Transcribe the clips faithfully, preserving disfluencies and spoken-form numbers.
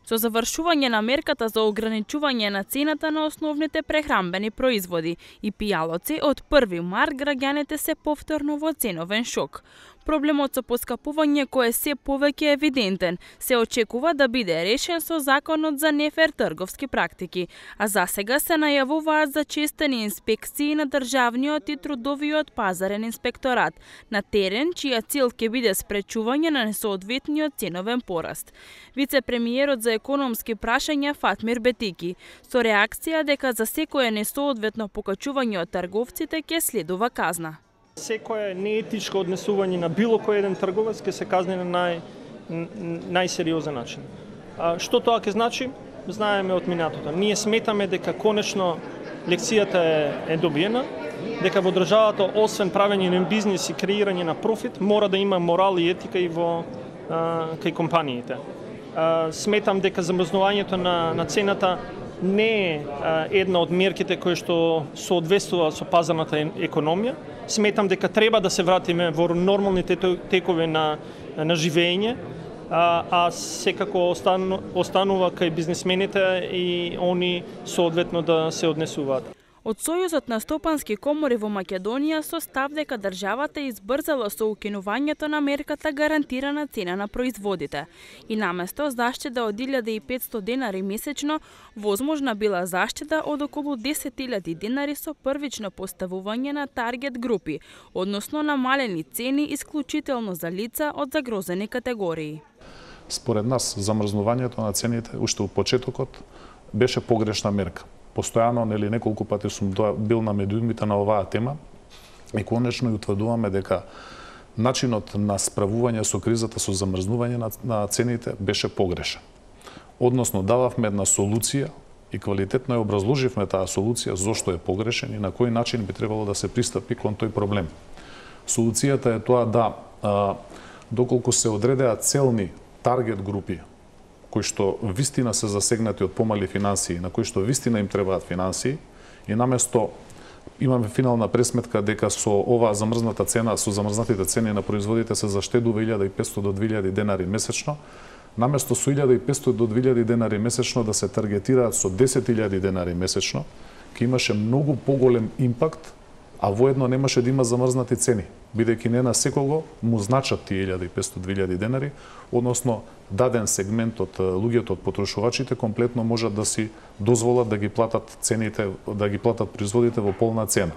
Со завршување на мерката за ограничување на цената на основните прехранбени производи и пијалоци, од први март граѓаните се повторно во ценовен шок. Проблемот со поскапување кој е се повеќе евидентен, се очекува да биде решен со законот за нефер трговски практики, а засега се најавуваат зачестени инспекции на државниот и трудовиот пазарен инспекторат на терен, чија цел ќе биде спречување на несоодветниот ценовен пораст. Вице-премиерот за економски прашања Фатмир Бетики, со реакција дека за секое несоодветно покачување од трговците ќе следува казна. Секое неетичко однесување на било кој еден трговец ќе се казни на нај, најсериозен начин. А, што тоа ќе значи? Знаеме од минатото. Ние сметаме дека конечно лекцијата е, е добиена, дека во државата освен правење на бизнис и креирање на профит, мора да има морал и етика и во а, кај компаниите. А, сметам дека замрзнувањето на, на цената не е а, една од мерките кои што соодветствува со пазарната економија. Сметам дека треба да се вратиме во нормалните текови на, на живење, а, а секако остану, останува кај бизнисмените и они соодветно да се однесуваат. Од Сојузот на стопански комори во Македонија со став дека државата избрзала со укинувањето на мерката гарантирана цена на производите и наместо заштеда од илјада и петстотини денари месечно, возможна била заштеда од околу десет илјади денари со првично поставување на таргет групи, односно намалени цени исклучително за лица од загрозени категории. Според нас, замрзнувањето на цените уште у почетокот беше погрешна мерка. Постојано, нели, неколку пати сум бил на медиумите на оваа тема и конечно и утврдуваме дека начинот на справување со кризата со замрзнување на, на цените беше погрешен. Односно, дававме една солуција и квалитетно ја образложивме таа солуција зошто е погрешен и на кој начин би требало да се пристапи кон тој проблем. Солуцијата е тоа да, а, доколку се одредеа целни таргет групи кои што вистина се засегнати од помали финансии, на кои што вистина им требаат финансии, и наместо имаме финална пресметка дека со оваа замрзната цена, со замрзнатите цени на производите се заштедува илјада и петстотини до две илјади денари месечно, наместо со илјада и петстотини до две илјади денари месечно да се таргетираат со десет илјади денари месечно, ќе имаше многу поголем импакт, а воедно немаше да има замрзнати цени, бидејќи не на секого му значат тие илјада и петстотини до две илјади денари, односно даден сегмент од луѓето, од потрошувачите, комплетно можат да си дозволат да ги платат цените, да ги платат производите во полна цена.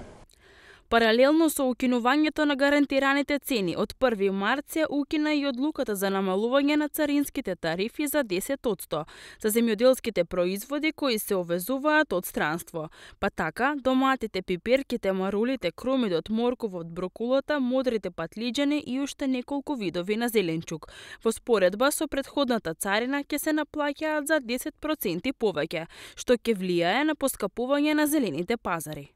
Паралелно со укинувањето на гарантираните цени, од први март се укина и одлуката за намалување на царинските тарифи за десет одсто за земјоделските производи кои се овезуваат од странство. Па така, доматите, пиперките, марулите, кромидот, морковот, брокулата, модрите патлиџани и уште неколку видови на зеленчук. Во споредба со претходната царина ќе се наплаќаат за десет проценти повеќе, што ќе влијае на поскапување на зелените пазари.